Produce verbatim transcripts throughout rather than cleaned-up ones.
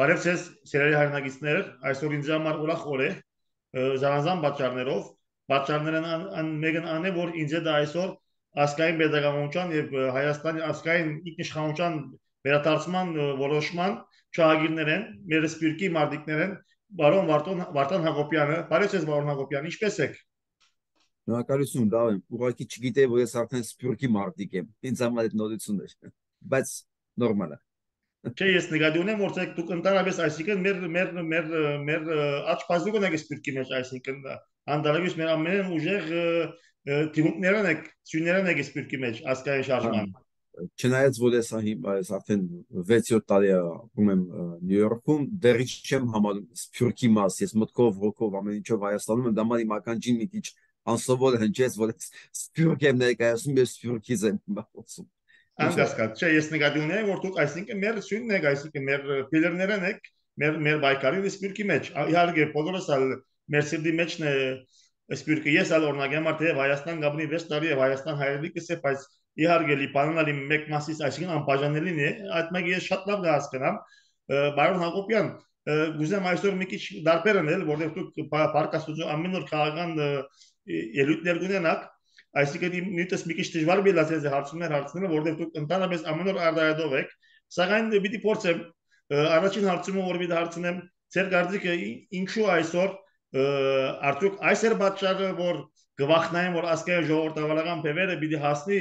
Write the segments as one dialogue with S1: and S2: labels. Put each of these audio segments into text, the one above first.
S1: Բարև ձեզ, սիրելի հայրենակիցներ, այսօր ինձ համար ուրախ օր է, զանազան պատճառներով, պատճառներն մեկն ան է, որ ինձ դա այսօր ազգային pedagogical եւ Հայաստանի ազգային ինքնիշխանության վերադարձման որոշման շահագիրներ են, մեր սպիրկի մարտիկներ են, բարոն Վարդան Վարդան Հակոբյանը, բարև ձեզ բարոն Հակոբյան, ինչպե՞ս եք։
S2: Շնորհակալություն, Դավիթ, ուղղակի չգիտեի, որ ես արդեն սպիրկի մարտիկ եմ, ինձ համար այդ նորությունն է, բայց նորմալ է։
S1: Չէ, ես նկատի ունեմ, որ դուք ընդհանրապես այսինքն մեր մեր մեր մեր աճ բազուկն եք սպիրկի մեջ, այսինքն անդալավյուս մեր ամենն ուժեղ թիմուկներն եք, սյուներն եք սպիրկի մեջ ազգային շարժման։
S2: Չնայած որ ես այս արդեն վեց-յոթ տարի ապրում եմ Նյու Յորքում, դեռ չեմ համարում սպիրկի մաս, ես մտքով, ոգով ամեն ինչով Հայաստանում եմ, դա մարի մականջին մի քիչ անսովոր հնչեց, որ սպիրկ եմ ներկայացնում, ես սպիրկից եմ խոսում։
S1: Անկասկած, չէ, ես նկատի ունեմ, որ դուք այսինքն մեր սյունն եք, այսինքն մեր փիլերներն եք, մեր մեր բայկարի սպիրկի մեջ։ Իհարկե, բոլորս ալ մեր սիրտի մեջն է սպիրկը։ Ես ալ օրինակ եմ արդեն Հայաստան գաբնի վեց տարի եւ Հայաստան հայրենիքս է, բայց իհարկե լիբանանալի մեկ մասից այսինքն անբաժանելին է, այդ մեկը ես շատ լավ հասկանամ։ Բարոն Հակոբյան, գուզեմ այսօր մի քիչ դարբեր անել, որովհետեւ դուք պարկաստուց ամեն օր քաղաքական ելույթներ ունենաք։ Այսինքն նույնպես մի քիչ դժվար բիլացել է հարցումներ հարցնելը, որովհետև դուք ընդհանրապես ամեն օր արդայադով եք, սակայն պիտի փորձեմ առաջին հարցումը, որ պիտի հարցնեմ, ձեր կարծիքը ինչու այսօր արդյոք այս էր պատճառը, որ գվախնային, որ ազգային ժողովրդավարական բևերը պիտի հասնի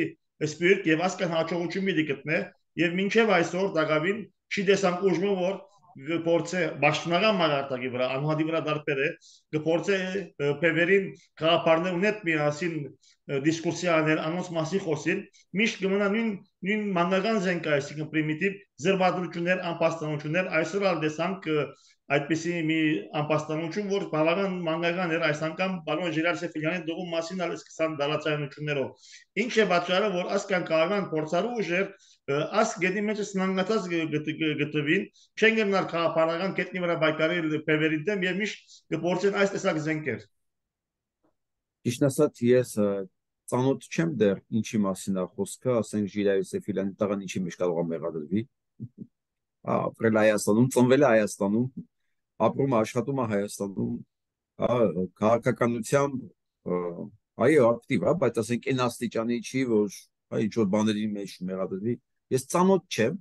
S1: սպիրտ եւ ազգային հաջողություն պիտի գտնե եւ մինչեւ այսօր դակավին չի տեսանք ուժը, որ գործե պաշտոնական մագարտակի վրա անհատի վրա դարբեր է գործե բևերին քաղաքարներ ունետ միասին դիսկուսիա անել անոնց մասի խոսին միշտ կմնա նույն նույն մանկական զենք այսինքն պրիմիտիվ զրբադրություններ անպաստանություններ այսօր ալ տեսանք այդպիսի մի անպաստանություն որ բավական մանկական էր այս անգամ պարոն Ժիրար Սեֆիլյանի դողում մասին ալ սկսան դալացայնություններով ինչ է պատճառը որ ասկան քաղաքական փորձառու ուժեր աս գետի մեջ սնանգացած գտվին չեն գնալ քաղաքական կետնի վրա բայկարել բևերին դեմ եւ միշտ կփորձեն այս տեսակ զենքեր
S2: Ճիշտ ասած ես ծանոթ չեմ դեռ ինչի մասին է խոսքը, ասենք Ժիրայր Սեֆիլյանի տղան ինչի մեջ կարող է մեղադրվի։ Ապրել Հայաստանում, ծնվել է Հայաստանում, ապրում աշխատում է Հայաստանում, քաղաքականությամբ այո ակտիվ է, բայց ասենք այն աստիճանի չի, որ ինչ որ բաների մեջ մեղադրվի։ Ես ծանոթ չեմ,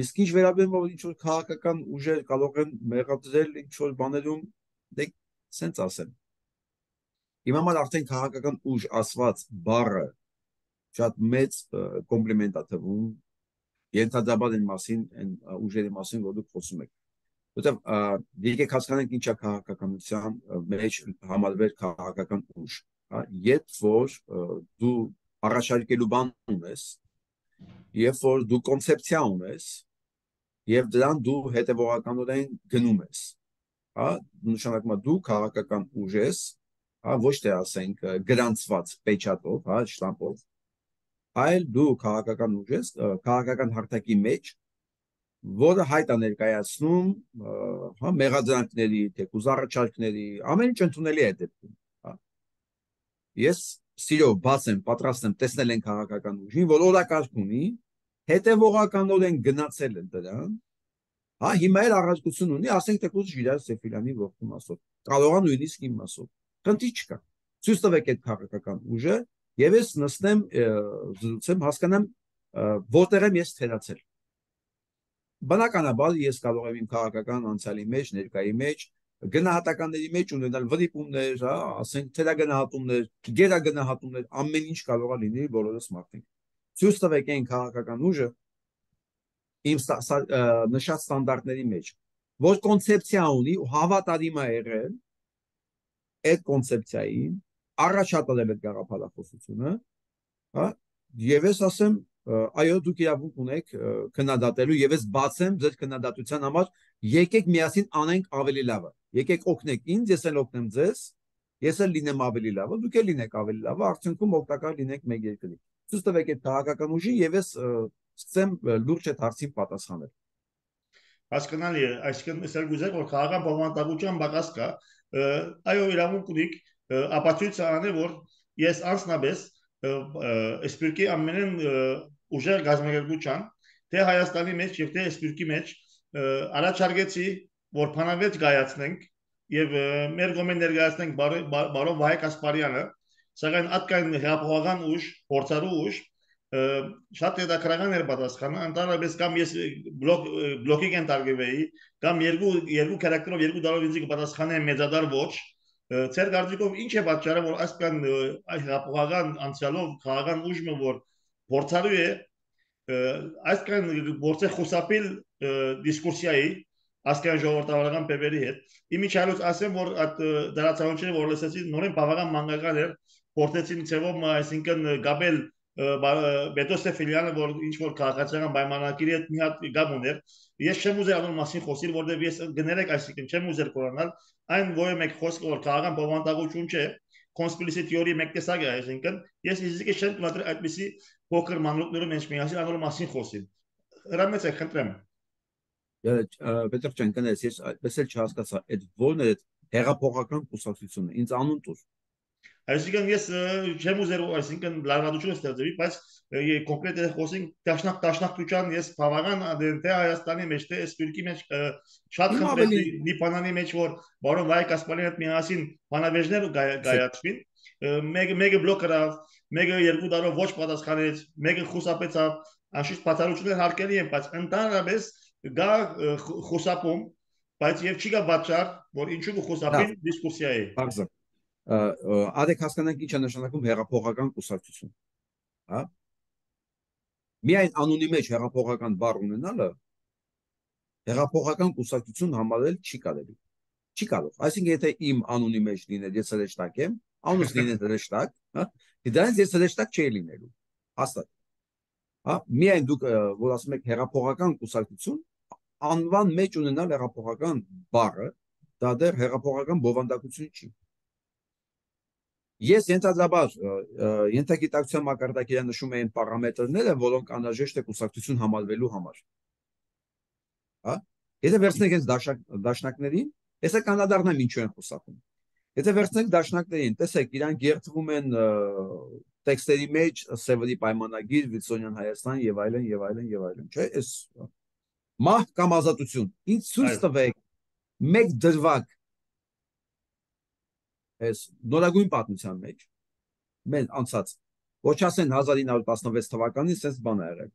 S2: իսկ ինչ վերաբերում որ ինչ որ քաղաքական ուժեր կարող են մեղադրել ինչ որ բաներում, դե սենց ասեմ։ Իմ համար արդեն քաղաքական ուժ ասված բառը շատ մեծ կոմպլիմենտ է թվում ենթադրաբար այն մասին, այն ուժերի մասին, որ դուք խոսում եք։ Որտեվ եկեք հասկանանք ինչ է քաղաքականության մեջ համարվեր քաղաքական ուժ, երբ որ դու առաջարկելու բան ունես, երբ որ դու կոնցեպցիա ունես, եւ դրան դու հետեւողականորեն գնում ես, հա, նշանակում է դու քաղաքական ուժ ես, հա, ոչ թե ասենք գրանցված պեչատով, հա, շտամպով, այլ դու քաղաքական ուժ ես, քաղաքական հարթակի մեջ, որը հայտ է ներկայացնում, հա, մեղադրանքների, թեկուզ առաջարկների, ամեն ինչ ընդունելի է դեպքում, հա։ Ես սիրով բաց եմ, պատրաստ եմ տեսնել են քաղաքական ուժին, որ օրակարգ ունի, հետևողականորեն գնացել են դրան, հա, հիմա էլ առարկություն ունի, ասենք թեկուզ Ժիրայր Սեֆիլյանի ողջ մասով, կարող է նույնիսկ իմ մասով, խնդիր չկա, ցույց տվեք այդ քաղաքական ուժը, եւ ես նստեմ, զրուցեմ, հասկանամ, որտեղ եմ ես թերացել։ Բնականաբար ես կարող եմ իմ քաղաքական անցյալի մեջ, ներկայի մեջ, գնահատականների մեջ ունենալ վրիպումներ, հա, ասենք թերագնահատումներ, գերագնահատումներ, ամեն ինչ կարող է լինի բոլորս մարդիկ։ Ցույց տվեք այն քաղաքական ուժը իմ նշած ստանդարտների մեջ, որ կոնցեպցիա ունի ու հավատարիմ է եղել այդ կոնցեպցիային, առաջադրել այդ գաղափարախոսությունը, հա, եւ ես ասեմ այո դուք իրավունք ունեք քննադատելու եւ ես բացեմ ձեր քննադատության համար եկեք միասին անենք ավելի լավը եկեք օգնեք ինձ ես էլ օգնեմ ձեզ ես էլ լինեմ ավելի լավը դուք էլ լինեք ավելի լավը արդյունքում օգտակար լինեք մեկ երկրի ցույց տվեք այդ քաղաքական ուժին եւ ես սկսեմ լուրջ այդ հարցին պատասխանել
S1: հասկանալի է այսինքն ես գուզեմ որ քաղաքական բովանդակության բակաս կա այո իրավունք ունիք ապացույց անել որ ես անձնապես սպիրկի ամենեն ուժեղ գազམ-ակերպության թե Հայաստանի մեջ եւ թե սպիրկի մեջ առաջարկեցի, որ փանավեճ գայացնենք եւ մեր գոմեն ներկայացնենք բարոն Վահե Կասպարյանը, սակայն ատկան հեղափոխական ուժ, փորձառու ուժ շատ հետաքրքրական էր պատասխանը, ընդհանրապես կամ ես բլոկ բլոկի կենտարգվեի, կամ երկու երկու քարակտերով երկու դարով ինձ կպատասխանեն մեծադար ոչ, ծեր կարծիքով ինչ է պատճառը, որ այսքան հեղափոխական անցյալով քաղաքական ուժը որ փորձառու է այսքան գործը խուսափել դիսկուրսիայի ասկան ժողովրդավարական բևերի հետ։ Իմիջիալոց ասեմ, որ այդ դարացավանչերը որ լսեցի նորեն բավական մանկական էր, փորձեցին ցեվով, այսինքն գաբել Բետոսը ֆիլիալը որ ինչ որ քաղաքացիական պայմանագիրի հետ մի հատ գամ ուներ։ Ես չեմ ուզեր անոր մասին խոսել, որովհետև ես գներեք այսինքն չեմ ուզեր կորանալ, այն որ մեկ խոսք որ քաղաքական բովանդակություն չէ, conspiracy theory մեկ տեսակ է, այսինքն ես իզիկը չեմ կմատրի այդպեսի փոքր մանրուկներով ինչ միասին անոր մասին խոսել։ Հրամեցեք, խնդրեմ։
S2: Պետր ջան, կներես, ես այդպես էլ չհասկացա, այդ ո՞րն է հեղափոխական կուսակցությունը, ինձ անուն տուր։
S1: Այսինքն ես չեմ ուզեր, այսինքն լարվածություն ստեղծվի, բայց կոնկրետ խոսենք դաշնակ դաշնակցության ես բավական դե Հայաստանի մեջ թե սպիրկի մեջ շատ խնդրեցի Լիբանանի մեջ որ բարոն Վահե Կասպարյանի հետ միասին բանավեժներ գայացվին, մեկը մեկը բլոկ գրավ, մեկը երկու տարով ոչ պատասխանեց, մեկը խուսափեցավ, անշուշտ բացառություններ հարկելի են, բայց ընդհանրապես գա խուսափում, բայց եւ չի գա պատճառ, որ ինչու կխուսափին դիսկուսիայի։
S2: Ադեք հասկանանք ինչ է նշանակում հեղափոխական կուսակցություն, հա։ Միայն անունի մեջ հեղափոխական բառ ունենալը հեղափոխական կուսակցություն համարել չի կարելի։ Չի կարող։ Այսինքն եթե իմ անունի մեջ լիներ ես հրեշտակ եմ, անունս լիներ հրեշտակ, հա, դրանից ես հրեշտակ չէի լինելու։ Հաստատ։ Հա, միայն դուք որ ասում եք հեղափոխական կուսակցություն, անվան մեջ ունենալ հեղափոխական բառը, դա դեռ հեղափոխական բովանդակություն չի։ Ես ենթադրաբար ենթագիտակցության մակարդակի նշում էին պարամետրները, որոնք անհրաժեշտ է կուսակցություն համարվելու համար։ Հա, եթե վերցնենք այս դաշնակներին, հեսա կանադառնամ ինչու են խուսափում։ Եթե վերցնենք դաշնակներին, տեսեք, իրանք երթվում են տեքստերի մեջ, Սևերի պայմանագիր, Վիլսոնյան Հայաստան եւ այլն եւ այլն եւ այլն, չէ՞, այս մահ կամ ազատություն։ Ինչ ցույց տվեք մեկ դրվագ այս նորագույն պատմության մեջ մեն անցած ոչ ասեն հազար ինը հարյուր տասնվեց թվականին sense բան է եղել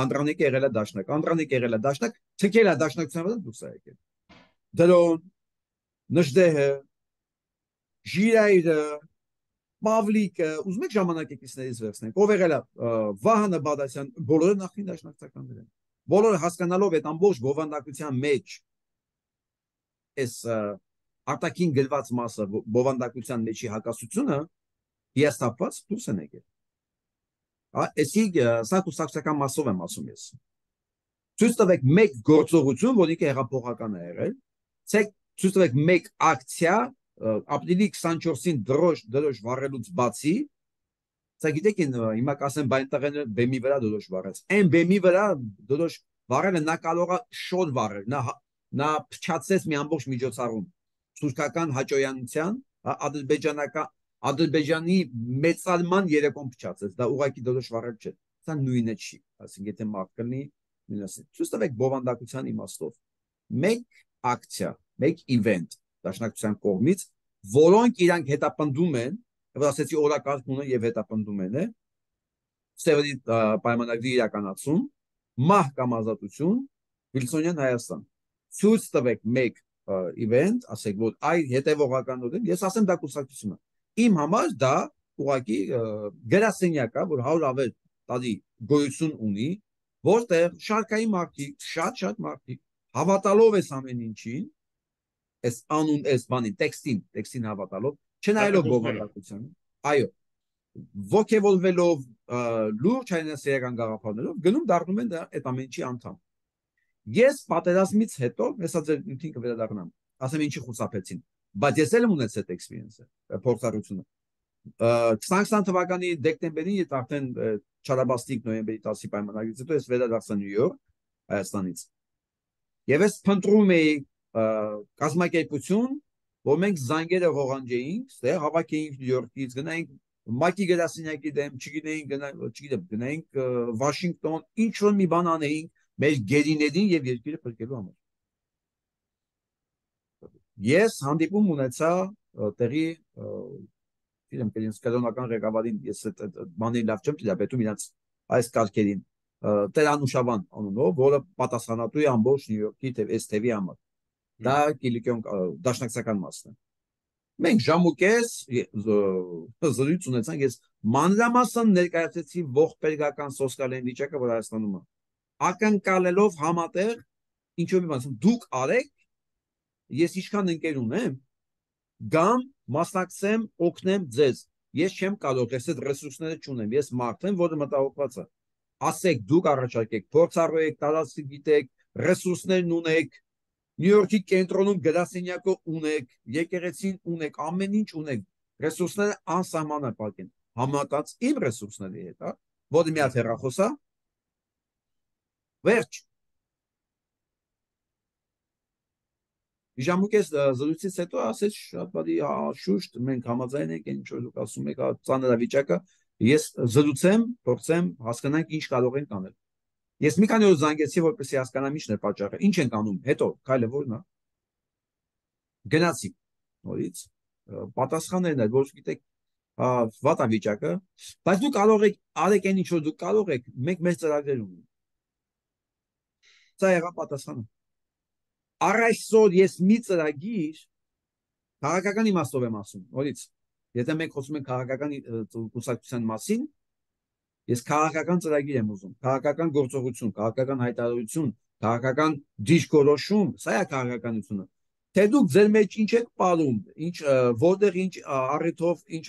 S2: Անդրանիկը եղել է դաշնակ Անդրանիկը եղել է դաշնակ թքել է դաշնակցության վրա դուրս է եկել դրոն նժդեհը ժիրայրը Պավլիկը ուզում եք ժամանակակիցներից վերցնենք ով եղել է Վահանը Բադասյան բոլորը նախին դաշնակցականներ են բոլորը հասկանալով այդ ամբողջ բովանդակության մեջ այս արտաքին գրված մասը բովանդակության մեջի հակասությունը հիաստապված դուրս են եկել։ Այսի սա կուսակցական մասով եմ ասում ես։ Ցույց տվեք մեկ գործողություն, որ ինքը հեղափոխական է եղել, ցույց տվեք մեկ ակցիա, ապրիլի քսանչորսին դրոշ դրոշ վառելուց բացի, սա գիտեք հիմա կասեմ բայն տղեները բեմի վրա դրոշ վառեց։ Այն բեմի վրա դրոշ վառելը նա կարող է շոտ վառել, նա նա փչացեց մի ամբողջ միջոցառում։ Թուրքական հաճոյանության, ադրբեջանական Ադրբեջանի մեծալման երեկոն փչացեց, դա ուղղակի դրոշ վառել չէ, սա նույնը չի, ասենք եթե մարդ կլինի, նույնասին։ Ցույց տվեք բովանդակության իմաստով։ Մեկ ակցիա, մեկ իվենթ դաշնակցության կողմից, որոնք իրանք հետապնդում են, եւ ասեցի օրակարգ ունեն եւ հետապնդում են, Սևերի պայմանագրի իրականացում, մահ կամ ազատություն, Վիլսոնյան Հայաստան։ Ցույց տվեք մեկ event, ասեք որ այ հետևողական ուղին, ես ասեմ դա կուսակցությունը։ Իմ համար դա ուղղակի գրասենյակ է, որ հարյուր ավել տարի գոյություն ունի, որտեղ շարքային մարդիկ, շատ-շատ մարդիկ հավատալով ես ամեն ինչին, այս անուն, այս բանին, տեքստին, տեքստին հավատալով, չնայելով բովանդակությանը, այո, ոգևորվելով լուրջ հայրենասիրական գաղափարներով, գնում դառնում են այդ ամեն ինչի անդամ։ Ես պատերազմից հետո, հեսա ձեր ինքին կվերադառնամ, ասեմ ինչի խուսափեցին, բայց ես էլ եմ ունեցել այդ experience-ը, փորձառությունը։ քսան թվականի դեկտեմբերին ես արդեն Չարաբաստիկ նոյեմբերի տասի պայմանագրից հետո ես վերադարձա Նյու Յորք, Հայաստանից։ Եվ ես փնտրում էի կազմակերպություն, որ մենք զանգերը ողանջեինք, ստեղ հավաքեինք Նյու Յորքից, գնայինք Մակի գրասենյակի դեմ, չգիտեինք, չգիտեմ, գնայինք Վաշինգտոն, ինչ որ մի բան անեինք, մեր գերիներին եւ երկիրը փրկելու համար։ Ես հանդիպում ունեցա տեղի իրեմ կենտրոնական ղեկավարին, ես այդ բանի լավ չեմ դիտապետում իրանց այս կարգերին, Տեր-Անուշավան անունով, որը պատասխանատու է ամբողջ Նյու Յորքի էս թևի համար։ Դա Կիլիկիոն դաշնակցական մասն է։ Մենք ժամուկես զրույց ունեցանք, ես մանրամասն ներկայացեցի ողբերգական սոցիալային վիճակը, որ Հայաստանում է, ակնկալելով համատեղ ինչ-որ մի բան, դուք արեք, ես ինչքան ընկեր ունեմ, գամ մասնակցեմ, օգնեմ ձեզ։ Ես չեմ կարող, ես այդ ռեսուրսները չունեմ, ես մարդ եմ, որը մտահոգված է։ Ասեք, դուք առաջարկեք, փորձառու եք, տարածք գիտեք, ռեսուրսներն ունեք, Նյու Յորքի կենտրոնում գրասենյակը ունեք, եկեղեցին ունեք, ամեն ինչ ունեք, ռեսուրսները անսահմանափակ են, համատած իմ ռեսուրսների հետ, հա, որը մի հատ հեռախոս է, վերջ։ Ժամուկես զրույցից հետո ասեց շատ բարի, շուշտ, մենք համաձայն ենք, ինչ որ դուք ասում եք, ծանրավիճակը, ես զրուցեմ, փորձեմ հասկանանք ինչ կարող ենք անել։ Ես մի քանի օր զանգեցի, որպեսզի հասկանամ ինչն է պատճառը, ինչ ենք անում, հետո քայլը որն է։ Գնացի նորից, պատասխաններն են, որ գիտեք, վատ է վիճակը, բայց դուք կարող եք, արեք այն ինչ որ դուք կարող եք, մենք մեր ծրագրեր ունենք։ Սա եղավ պատասխանը։ Առ այսօր ես մի ծրագիր քաղաքական իմաստով եմ ասում, նորից, եթե մենք խոսում ենք քաղաքական կուսակցության մասին, ես քաղաքական ծրագիր եմ ուզում, քաղաքական գործողություն, քաղաքական հայտարարություն, քաղաքական դիրքորոշում, սա է քաղաքականությունը։ Թե դուք ձեր մեջ ինչ եք պարում, ինչ որտեղ ինչ առիթով, ինչ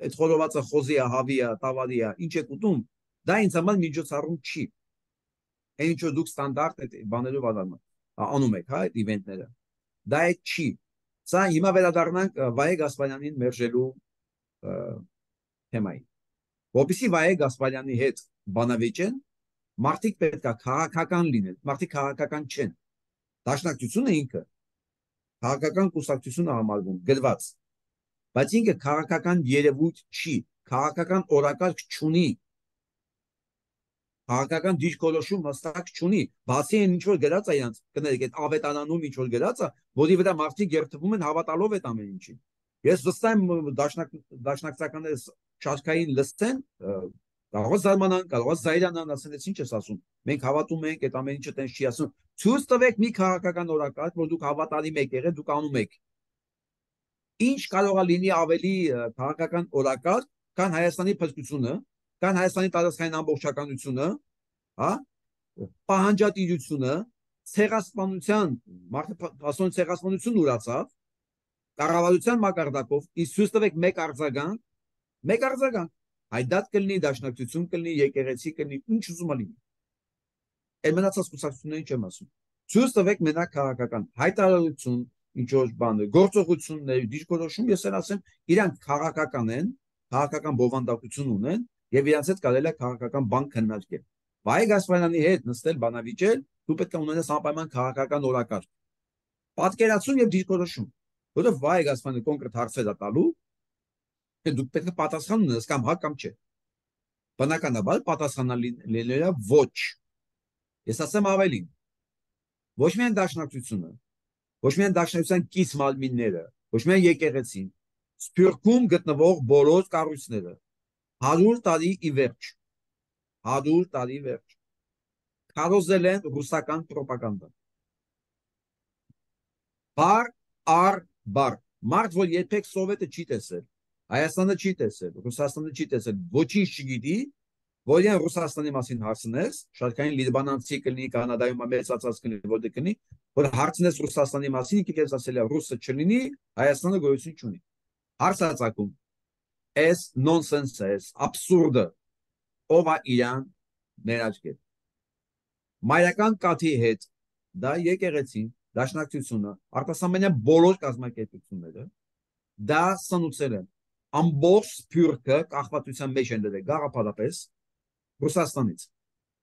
S2: այդ խորովածը խոզի է, հավի է, տավարի է, ինչ եք ուտում, դա ինձ համար միջոցառում չի։ Այն ինչ որ դուք ստանդարտ այդ բաներով անում եք, հա, այդ իվենտները։ Դա այդ չի։ Սա հիմա վերադառնանք Վայե Գասպարյանին մերժելու թեմային։ Որպեսզի Վայե Գասպարյանի հետ բանավեճեն, մարդիկ պետք է քաղաքական լինեն, մարդիկ քաղաքական չեն։ Դաշնակցությունը ինքը քաղաքական կուսակցություն է համարվում, գրված, բայց ինքը քաղաքական երևույթ չի, քաղաքական օրակարգ չունի, քաղաքական դիրքորոշում հստակ չունի, բացի այն ինչ որ գրած է իրանց, կներեք, այդ ավետարանում ինչ որ գրած է, որի վրա մարդիկ երթվում են հավատալով այդ ամեն ինչին։ Ես վստահ եմ դաշնակցականները շարքային լսեն, կարող է զարմանան, կարող է զայրանան, ասեն, ես ինչ ես ասում, մենք հավատում ենք, այդ ամեն ինչը տենց չի ասում։ Ցույց տվեք մի քաղաքական օրակարգ, որ դուք հավատալի եք եղել, դուք անում եք։ Ինչ կարող է լինի ավելի քաղաքական օրակարգ, քան Հայաստանի փրկությունը, քան Հայաստանի տարածքային ամբողջականությունը, հա, պահանջատիրությունը, ցեղասպանության, մարդասպանության ցեղասպանություն ուրացավ, կառավարության մակարդակով, իսկ ցույց տվեք մեկ արձագանք, մեկ արձագանք, հայդատ կլինի, դաշնակցություն կլինի, եկեղեցի կլինի, ինչ ուզում լինի։ Այդ մնացած կուսակցություններին չեմ ասում։ Ցույց տվեք մենակ քաղաքական հայտարարություն, ինչ որ բան, գործողություններ, դիրքորոշում, ես ասեմ, իրանք քաղաքական են, քաղաքական բովանդակություն ունեն եւ իրանց հետ կարելի է քաղաքական բան քննարկել։ Վայե Գասպարյանի հետ նստել բանավիճել, դու պետք է ունենաս անպայման քաղաքական օրակարգ։ Պատկերացում եւ դիրքորոշում, որովհետեւ Վայե Գասպարյանը կոնկրետ հարցեր է տալու, դուք պետք է պատասխան ունենաս կամ հա կամ չէ։ Բնականաբար պատասխանելիը ոչ։ Ես ասեմ ավելին, ոչ միայն դաշնակցությունը, ոչ միայն դաշնակցության կից մարմինները, ոչ միայն եկեղեցին, Սփյուռքում գտնվող բոլոր կառույցները հարյուր տարի ի վերջ, հարյուր տարի վերջ, քարոզել են ռուսական պրոպագանդա։ Բար առ բար, մարդ, որ երբեք Սովետը չի տեսել, Հայաստանը չի տեսել, Ռուսաստանը չի տեսել, ոչինչ չգիտի, որ իրեն Ռուսաստանի մասին հարցնես, շարքային լիբանանցի կլինի, Կանադայում մեծացած կլինի, որտեղ կլինի, որ հարցնես Ռուսաստանի մասին, ինքը քեզ ասել է ռուսը չլինի, Հայաստանը գոյություն չունի։ Հարցածակում, էս նոնսենս է, աբսուրդը, ով է իրան ներաճկել։ Մայրական կաթի հետ, դա եկեղեցին, դաշնակցությունը, արտասահմանյան բոլոր կազմակերպությունները, դա սնուցել են։ Ամբողջ Սփյուռքը կախվածության մեջ են դրել գաղափարապես Ռուսաստանից։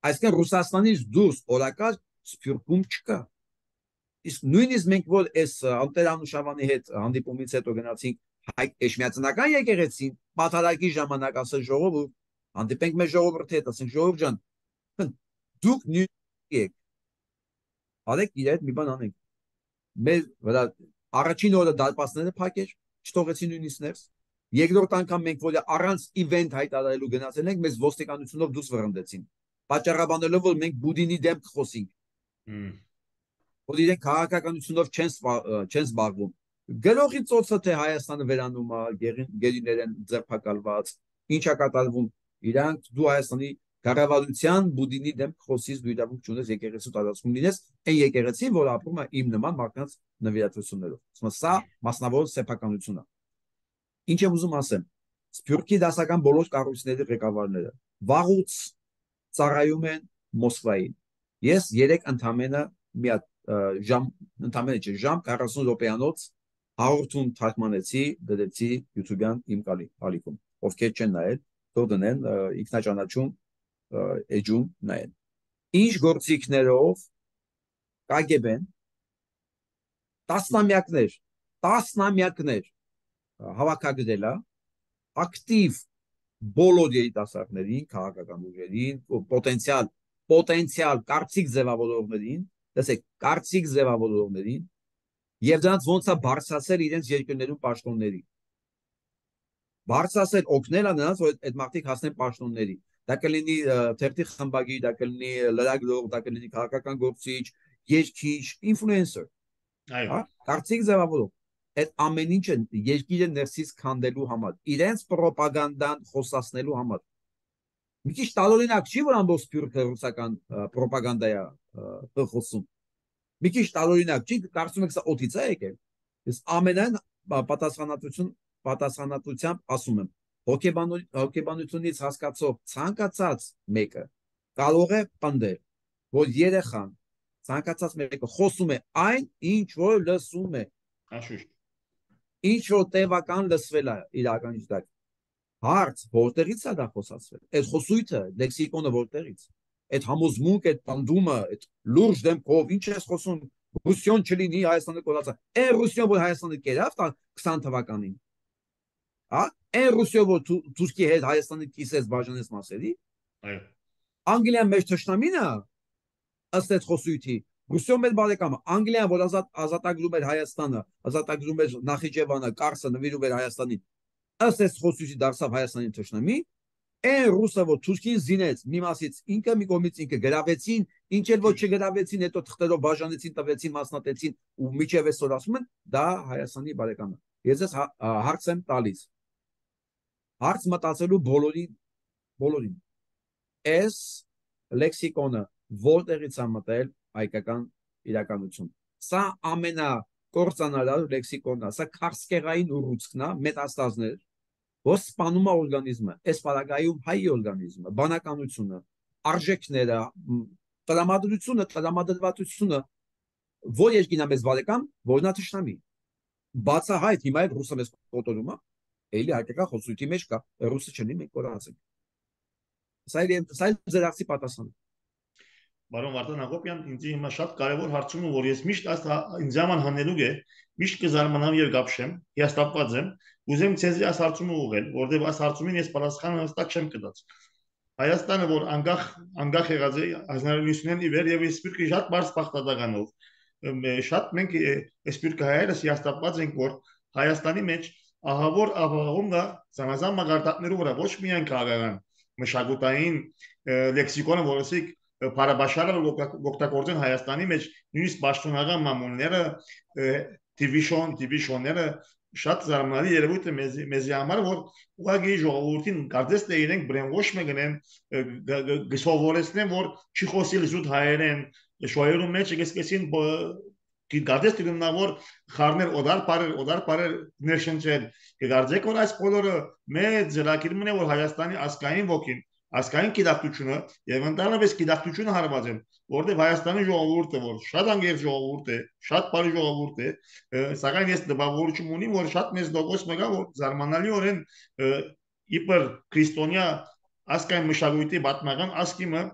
S2: Այսինքն Ռուսաստանից դուրս օրակարգ Սփյուռքում չկա։ Իսկ նույնիսկ մենք որ այս Տեր-Անուշավանի հետ հանդիպումից հետո գնացինք Հայ Էջմիածնական եկեղեցին, պատարագի ժամանակ ասել ժողովուրդ, հանդիպենք մեր ժողովրդի հետ, ասենք ժողովուրդ ջան, դուք Եք արեք իրար մի բան անենք մեր վրա առաջին օրը դարպասները փակեր չթողեցին նույնիսկ ներս երկրորդ անգամ մենք որ առանց իվենթ հայտարարելու գնացել ենք մեզ ոստիկանությունով դուրս վռնդեցին պատճառաբանելով որ մենք Բուդինի դեմ կխոսենք որ իրենք քաղաքականությունով չեն չեն զբաղվում գրողի ծոցը թե Հայաստանը վերանում է գերիներ են ձերբակալված ինչա կատարվում իրանք դու Հայաստանի կառավարության Բուդինի դեմ խոսից դու իրավունք չունես եկեղեցու տարածքում լինես այն եկեղեցին որ ապրում է իմ նման մարդկանց նվիրատվություններով սա մասնավոր սեփականություն է ինչ եմ ուզում ասեմ Սփյուռքի դասական բոլոր կառույցների ղեկավարները վաղուց ծառայում են Մոսկվային ես երեք ընդամենը մի հատ ժամ ընդամենը չէ ժամ քառասուն րոպեանոց հաղորդում թարգմանեցի դրեցի YouTube-յան իմ ալիքում ովքեր չեն նայել թող դնեն ինքնաճանաչում էջում նայեն ինչ գործիքներով Կա Գե Բեն տասնամյակներ տասնամյակներ հավաքագրել է ակտիվ բոլոր երիտասարդներին քաղաքական ուժերին պոտենցիալ պոտենցիալ կարծիք ձևավորողներին տեսեք կարծիք ձևավորողներին եւ դրանց ոնց է բարձրացել իրենց երկրներում պաշտոնների բարձրացել օգնել է նրանց որ այդ մարդիկ հասնեն պաշտոնների դա կլինի թերթի խմբագիր դա կլինի լրագրող դա կլինի քաղաքական գործիչ երկիչ ինֆլուենսեր այո կարծիք ձևավորող այդ ամեն ինչը երկիրը ներսից քանդելու համար իրենց ռոպագանդան խոսացնելու համար մի քիչ տարօրինակ չի որ ամբողջ Սփյուռքը ռուսական ռոպագանդա է խոսում մի քիչ տարօրինակ չի կարծում եք սա օդից է եկել ես ամենայն պատասխանատվություն պատասխանատվությամբ ասում եմ հոգեբանությունից հասկացող ցանկացած մեկը կարող է պնդել որ երեխան ցանկացած մեկը խոսում է այն ինչ որ լսում է
S1: Աշուշ
S2: ինչ որ տևական լսվել է իրական ճիշտ հարց որտեղից է դա խոսացվել այդ խոսույթը լեքսիկոնը որտեղից այդ համոզմունք այդ պնդումը այդ լուրջ դեմքով ինչ ես խոսում ռուսիոն չլինի Հայաստանը կորացա է ռուսիոն որ Հայաստանը կերավ քսան թվականին հա է ռուսիոն որ Թուրքիի հետ Հայաստանը կիսեց բաժանեց մասերի
S1: այո
S2: Անգլիան մեր ճշտամին է ըստ այդ խոսույթի Ռուսիոն մեր բարեկամը Անգլիան որ ազատ ազատագրում էր Հայաստանը ազատագրում էր Նախիջևանը Կարսը նվիրում էր Հայաստանին ըստ այս խոսույթի դարձավ Հայաստանի ճշտամի Այն ռուսը որ Թուրքին զինեց մի մասից ինքը մի կողմից ինքը գրավեցին ինչ էլ որ չգրավեցին հետո թղթերով բաժանեցին տվեցին մասնատեցին ու միջև այսօր ասում են դա Հայաստանի բարեկամը ես ես հարց եմ տալիս հարց մտածելու բոլորին բոլորին այս լեքսիկոնը որտեղից է մտել հայկական իրականություն սա ամենա կործանարար լեքսիկոնն է սա քարսկեղային ուռուցքն է մետաստազներ որ սպանում է օրգանիզմը, այս պարագայում հայ օրգանիզմը, բանականությունը, արժեքները, տրամադրությունը, տրամադրվածությունը, որ երկինա մեզ բարեկամ, որն է թշնամի։ Բացահայտ հիմա այդ ռուսը մեզ կոտորում է, էլի հայկական խոսույթի մեջ կա, ռուսը չլինի մենք կորացենք։ Սա է ձերակցի պատասխանը։
S1: Բարոն Վարդան Հակոբյան, ինձ հիմա շատ կարևոր հարցում է, որ ես միշտ այս ինձ համար հանելուկ է, միշտ կզարմանամ եւ գապշեմ, հիաստապված եմ, ուզեմ ցեզի այս հարցումը ուղղել, որտեղ այս հարցումին ես պատասխանը հստակ չեմ կտած։ Հայաստանը, որ անկախ անկախ եղած է հազար իննսուն նոյնի վեր եւ Սփյուռքի շատ բարձ բախտադականով, շատ մենք Սփյուռքի հայերս հիաստապված ենք, որ Հայաստանի մեջ ահավոր ահավոր կա զանազան մագարտակներով վրա ոչ միայն քաղաքական, մշակութային լեքսիկոնը, որոնցիկ Փարաբաշարը օգտագործեն Հայաստանի մեջ նույնիսկ պաշտոնական մամուլները դիվիժոն դիվիժոնները շատ զարմանալի երևույթ է մեզ մեզի համար որ ուղղակի ժողովրդին կարծես թե իրենք բրենվոշ մեկնեն գսովորեցնեն որ չի խոսիլ զուտ հայերեն շոյերու մեջ գեսկեսին կարծես թե նավոր խառներ օդար բարեր օդար բարեր ներշնչել կգարձեք որ այս բոլորը մեծ զրակիրմն է որ Հայաստանի ասկային ոգին Ասկային գիտակցությունը եւ ընդհանրապես գիտակցությունը հարված են, որտեղ Հայաստանի ժողովուրդը որ շատ անգեր ժողովուրդ է, շատ բարի ժողովուրդ է, սակայն ես դպավորություն ունիմ, որ շատ մեծ դոգոս մեկա որ զարմանալիորեն իբր քրիստոնյա ասկային մշակույթի պատմական ասկիմը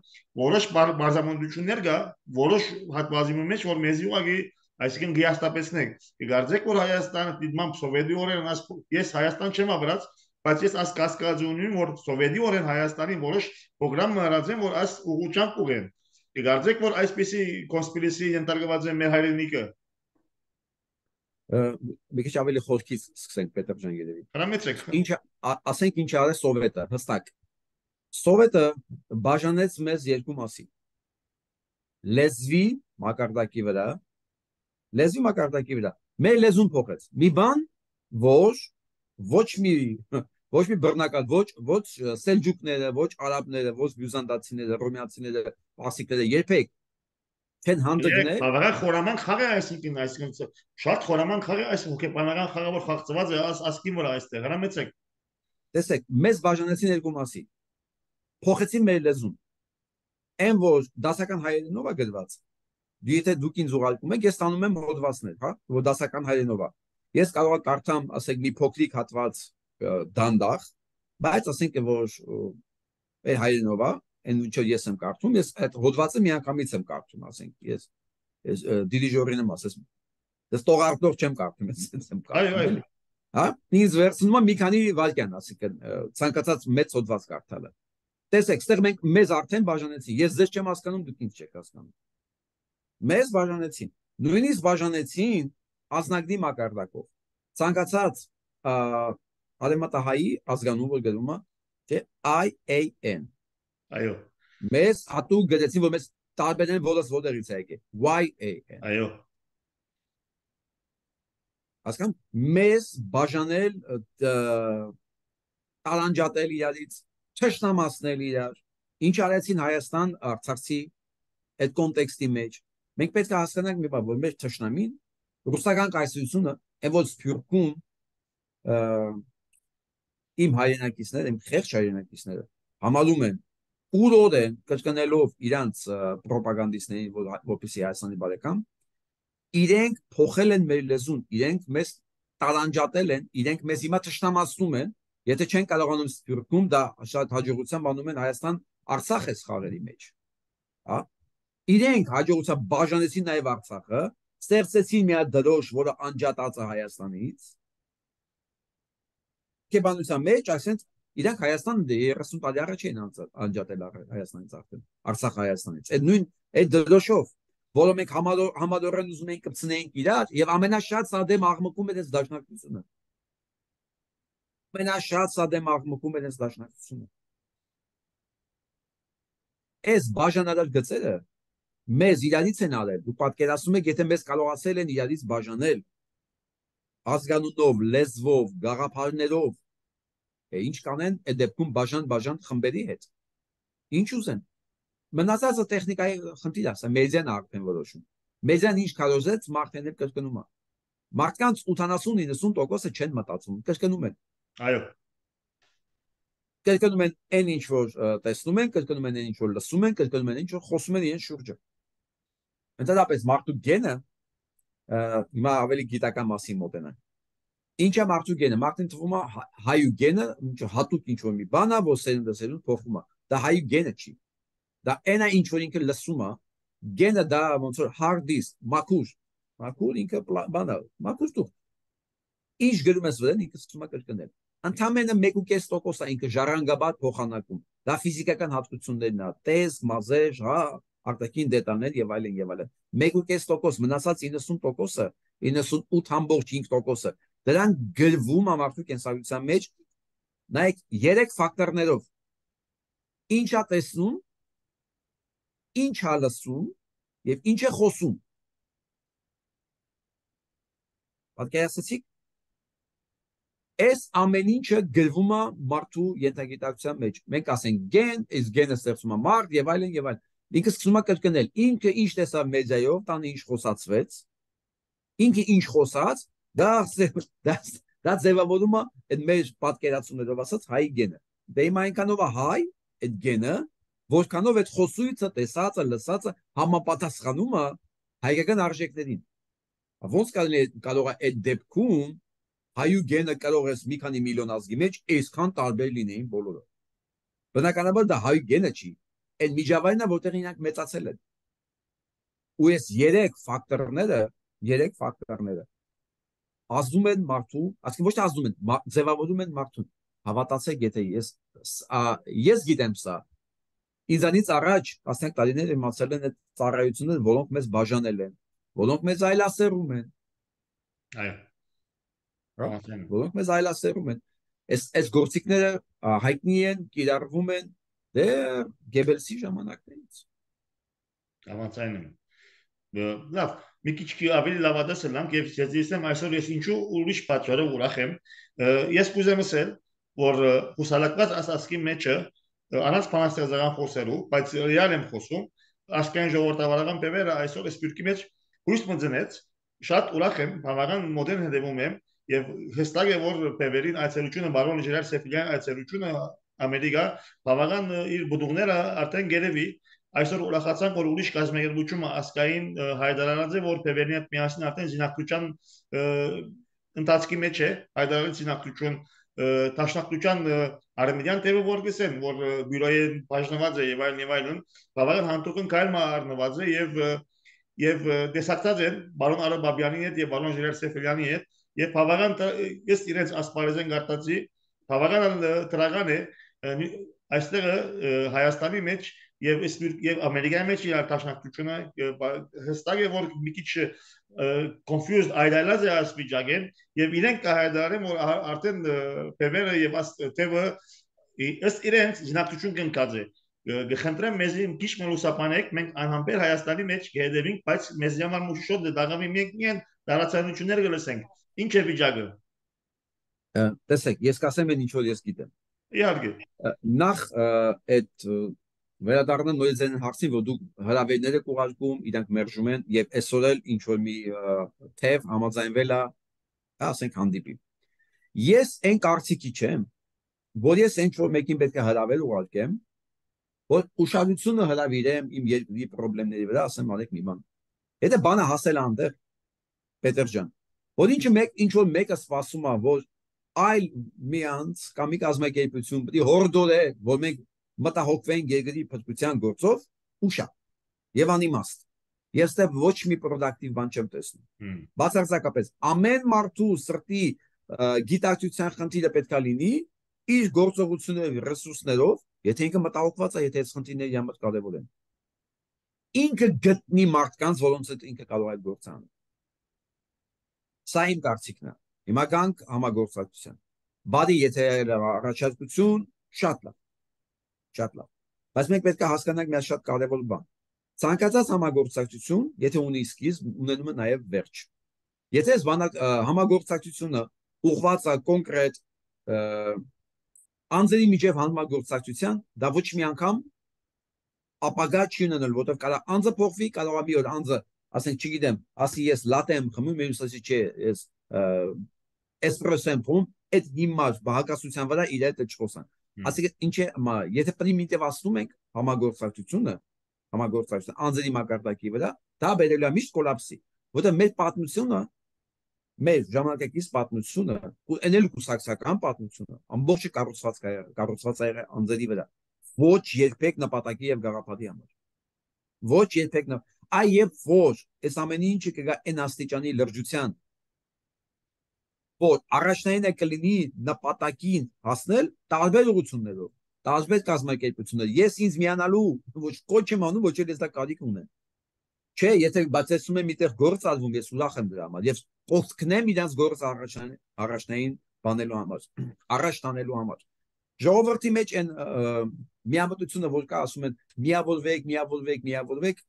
S1: որոշ բարձամոնդություններ կա, որոշ հատվածի մեջ որ մեզի ուղղակի այսինքն գիաստապեցնենք։ Կգարձեք որ Հայաստանը դիտմամբ սովետի օրերն ես Հայաստան չեմ ապրած բայց ես այս կասկածի ունեմ որ սովետի օրեն Հայաստանի որոշ պրոգրամ մնացած են որ այս ուղղությամբ ուղեն Կգարձեք, որ այսպիսի կոնսպիրացիի ենթարկված է մեր հայրենիքը։
S2: Մի քիչ ավելի խորքից սկսենք Պետր ջան երևի։
S1: Հրամեցեք։
S2: Ինչ ասենք ինչ արել սովետը, հստակ։ Սովետը բաժանեց մեզ երկու մասի։ Լեզվի մակարդակի վրա, լեզվի մակարդակի վրա։ Մեր լեզուն փոխեց։ Մի բան, որ ոչ մի ոչ մի բռնակալ, ոչ ոչ սելջուկները, ոչ արաբները, ոչ բյուզանդացիները, ռոմեացիները, պարսիկները երբեք չեն հանդգնել։
S1: Բավական խորաման խաղ է, այսինքն, այսինքն շատ խորաման խաղ է, այս հոգեբանական խաղը, որ խաղացված է, ասկին որ այստեղ, հրամեցեք։
S2: Տեսեք, մեզ բաժանեցին երկու մասի։ Փոխեցին մեր լեզուն։ Այն որ դասական հայերենով է գրված, եթե դուք ինձ ուղարկում եք, ես ստանում եմ հոդվածներ, հա, որ դասական հայերենով է։ Ես կարող եմ կարդամ, ասենք, մի փոքրիկ հատված դանդաղ, բայց ասենք որ այդ հայերենով է, այն ինչ ես եմ կարդում, ես այդ հոդվածը միանգամից եմ կարդում, ասենք, ես ես դիրիժորին եմ ասես, ես տողարտող չեմ կարդում, ես եմ կարդում, էլի։ Հա, ինձ վերցնում եմ մի քանի վայրկյան, ասենք, ցանկացած մեծ հոդված կարդալը։ Տեսեք, ստեղ մենք մեզ արդեն բաժանեցին։ Ես ձեզ չեմ հասկանում, դուք ինձ չեք հասկանում։ Մեզ բաժանեցին։ Նույնիսկ բաժանեցին ազնագնի մակարդակով։ Ցանկացած արևմտահայի ազգանուն որ գրում է, թե I A N։
S1: Այո։
S2: Մեզ հատուկ գրեցին, որ մեզ տարբերեն որս որից է եկել։ Y A N։
S1: Այո։
S2: Հասկանում, մեզ բաժանել տարանջատել իրարից, թշնամացնել իրար, ինչ արեցին Հայաստան Արցախի այդ կոնտեքստի մեջ։ Մենք պետք է հասկանանք մի բան, որ մեր թշնամին ռուսական կայսրությունը այն որ Սփյուռքում իմ հայրենակիցները, իմ խեղճ հայրենակիցները համալում են ուրոդ են կրկնելով իրանց պրոպագանդիստներին, որպեսզի Հայաստանի բարեկամ, իրենք փոխել են մեր լեզուն, իրենք մեզ տարանջատել են, իրենք մեզ հիմա թշնամացնում են, եթե չեն կարողանում Սփյուռքում, դա շատ հաջողությամբ անում են Հայաստան Արցախ էս խաղերի մեջ։ Հա։ Իրենք հաջողությամբ բաժանեցին նաև Արցախը, ստեղծեցին մի հատ դրոշ, որը անջատած է Հայաստանից։ Կեբանության մեջ, այսինքն իրանք Հայաստանը երեսուն տարի առաջ էին անջատել Հայաստանից արդեն, Արցախ Հայաստանից։ Այդ նույն այդ դրոշով, որը մենք համադորեն ուզում ենք կպցնենք իրար, եւ ամենաշատ սա դեմ աղմկում էր այս դաշնակցությունը։ Ամենաշատ սա դեմ աղմկում էր այս դաշնակցությունը։ Այս բաժանարար գծերը մեզ իրարից են արել։ Դու պատկերացնում եք, եթե մեզ կարողացել են իրարից բաժանել ազգանունով, լեզվով, գաղափարներով, ինչ կանեն այդ դեպքում բաժան-բաժան խմբերի հետ։ Ինչ ուզեն։ Մնացածը տեխնիկայի խնդիր է, սա մեդիան արդեն որոշում։ Մեդիան ինչ կարոզեց, մարդն էլ կրկնում է։ Մարդկանց ութանասուն-իննսուն տոկոսը չեն մտածում, կրկնում են։
S1: Այո։
S2: Կրկնում են այն ինչ որ տեսնում են, կրկնում են այն ինչ որ լսում են, կրկնում են ինչ որ խոսում են իրեն շուրջը։ Ընդհանրապես մարդու գենը հիմա ավելի գիտական մասին մոտենան։ Ինչ է մարդու գենը։ Մարդին թվում է հայու գենը, հատուկ ինչ որ մի բան է, որ սերունդը սերունդ փոխում է։ Դա հայու գենը չի։ Դա այն է ինչ որ ինքը լսում է։ Գենը դա ոնց որ hard disk, մաքուր։ Մաքուր ինքը բան է, մաքուր դու։ Ինչ գրում ես վրան, ինքը սկսում է կրկնել։ Ընդամենը մեկ ու կես տոկոս է ինքը ժառանգաբար փոխանակում։ Դա ֆիզիկական հատկություններն է, տեսք, մազեր, հա, արտաքին դետալներ եւ այլն եւ այլն։ մեկ ու կես տոկոս, մնացած իննսուն տոկոսը, իննսունութ համբողջ հինգ տոկոսը դրան գրվում է մարդու կենսագրության մեջ, նայեք երեք ֆակտորներով։ Ինչ է տեսնում, ինչ է լսում եւ ինչ է խոսում։ Պատկերացրեցիք։ Այս ամեն ինչը գրվում է մարդու ենթագիտակցության մեջ։ Մենք ասենք գեն, այս գենը ստեղծում է մարդ եւ այլն եւ այլն։ Ինքը սկսում է կրկնել։ Ինքը ինչ տեսավ մեդիայով, տանը ինչ խոսացվեց։ Ինքը ինչ խոսած, դա դա դա ձևավորում է այդ մեր պատկերացումներով ասած հայ գենը։ Դե իմ այնքանով է հայ այդ գենը, որքանով այդ խոսույցը, տեսածը, լսածը համապատասխանում է հայկական արժեքներին։ Ոնց կարող է այդ դեպքում հայու գենը կարող է մի քանի միլիոն ազգի մեջ այսքան տարբեր լինեին բոլորը։ Բնականաբար դա հայու գենը չի, այն միջավայրն է, որտեղ իրանք մեծացել են։ Ու այս երեք ֆակտորները, երեք ֆակտորները ազդում են մարդու, ասենք ոչ թե ազդում են, ձևավորում են մարդուն։ Հավատացեք, եթե ես ես գիտեմ սա, Ինձանից առաջ տասնյակ տարիներ իմացել են այդ ծառայությունները, որոնք մեզ բաժանել են, որոնք մեզ այլասերում են,
S1: այո, համաձայն եմ,
S2: որոնք մեզ այլասերում են։ Այս այս գործիքները հայտնի են, կիրառվում են դեռ Գեբելսի ժամանակներից։
S1: համաձայն եմ։ Լավ, մի քիչ ավելի լավադասել եմ եւ ես դիսեմ այսօր ես ինչու ուրիշ պատճառով ուրախ եմ։ Ես կուզեմ ասել, որ հուսալակված ասացքի մեջը առանց բանաստեղծական խոսելու, բայց ռեալ եմ խոսում, ասկային ժողովրդավարական բևերը այսօր սպյուրքի մեջ հույս մտնեց, շատ ուրախ եմ, բավական մոդեռն հետևում եմ եւ հստակ է որ բևերին այցելությունը բարոն Ժերար Սեֆիլյան այցելությունը Ամերիկա բավական իր բդուղները արդեն գերեվի այսօր ուրախացանք որ ուրիշ կազմակերպությունը ասկային հայտարարած է որ բևերին հետ միասին արդեն զինակցության ընթացքի մեջ է հայտարարած զինակցություն Տաշնակցության արմենիան տևը որ գսեն, որ բյուրոյի բաժնված է եւ այլն եւ այլն, բավական հանդուկն կայլ մարնված է եւ եւ դեսակցած են բարոն Արաբաբյանի հետ եւ բարոն Ժիրայր Սեֆելյանի հետ եւ բավական ես իրենց ասպարեզեն գարտացի, բավական տրական է այստեղ Հայաստանի մեջ եւ եւ Ամերիկայի մեջ իր տաշնակցությունը հստակ է որ մի քիչ confused այդալազ է ասպիճակեն եւ իրենք կհայտարարեն որ արդեն բևերը եւ աստեվը ըստ իրենց զինակցություն կնկած է գխնդրեմ մեզ քիչ մելուսապանեք մենք անհամբեր Հայաստանի մեջ կհետևենք բայց մեզ համար մուշոտ դաղամի մենք միայն տարածություններ կլսենք ինչ է վիճակը
S2: տեսեք ես կասեմ ինչ որ ես գիտեմ
S1: իհարկե
S2: նախ այդ վերադառնալ նույնիսկ այն հարցին, որ դուք հրավերները կուղարկում, իրանք մերժում են եւ այսօր էլ ինչ որ մի թեև համաձայնվել է, ասենք հանդիպի։ Ես այն կարծիքի չեմ, որ ես ինչ որ մեկին պետք է հրավեր ուղարկեմ, որ ուշադրությունը հրավիրեմ իմ երկրի խնդիրների վրա, ասեմ արեք մի բան։ Եթե բանը հասել անդեղ Պետր ջան, որ ինչը մեկ ինչ որ մեկը սպասում է, որ այլ մի անց կամ մի կազմակերպություն պետք է հորդորե, որ մենք մտահոգվենք երկրի փրկության գործով ուշա եւ անիմաստ ես դեռ ոչ մի պրոդակտիվ բան չեմ տեսնում բացարձակապես ամեն մարդու սրտի գիտակցության խնդիրը պետքա լինի իր գործողությունների ռեսուրսներով եթե ինքը մտահոգված է եթե այս խնդիրները համար կարևոր են ինքը գտնի մարդկանց որոնց հետ ինքը կարող է գործ անել սա իմ կարծիքն է հիմա գանք համագործակցության բադի եթե առաջարկություն շատ լավ Շատ լավ։ Բայց մենք պետք է հասկանանք մի շատ կարևոր բան։ Ցանկացած համագործակցություն, եթե ունի սկիզբ, ունենում է նաև վերջ։ Եթե այս համագործակցությունը ուղղված է կոնկրետ անձերի միջև համագործակցության, դա ոչ մի անգամ ապագա չի ունենալ, որտեղ կարող անձը փոխվի, կարող է մի օր անձը, ասենք, չգիտեմ, ասի ես լատե եմ խմում, մյուսը ասի չէ, ես էսպրեսո եմ խմում, այդ հիմար բաղկացության վրա իր հետ չխոսան։ Ասենք ինչ է, եթե պրիմիտիվացնում ենք համագործակցությունը, համագործակցությունը անձերի մակարդակի վրա, դա բերելու է միշտ կոլապսի, որտեղ մեր պատմությունը, մեր ժամանակակից պատմությունը, ու այլ կուսակցական պատմությունը, ամբողջը կառուցված է կառուցված է անձերի վրա, ոչ երբեք նպատակի եւ գաղափարի համար։ Ոչ երբեք այ եւ որ այս ամեն ինչը կգա այն աստիճանի լրջության որ առաջնային է կլինի նպատակին հասնել տարբեր ուղղություններով, տարբեր կազմակերպություններ։ Ես ինձ միանալու ոչ կոչ եմ անում, ոչ էլ ես դա կարիք ունեմ։ Չէ, եթե բացեցնում եմ միտեղ գործ արվում, ես ուրախ եմ դրա համար եւ կողքնեմ իրանց գործ առաջնային առաջնային բանելու համար, առաջ տանելու համար։ Ժողովրդի մեջ այն միամտությունը որ կա, ասում են միավորվեք, միավորվեք, միավորվեք։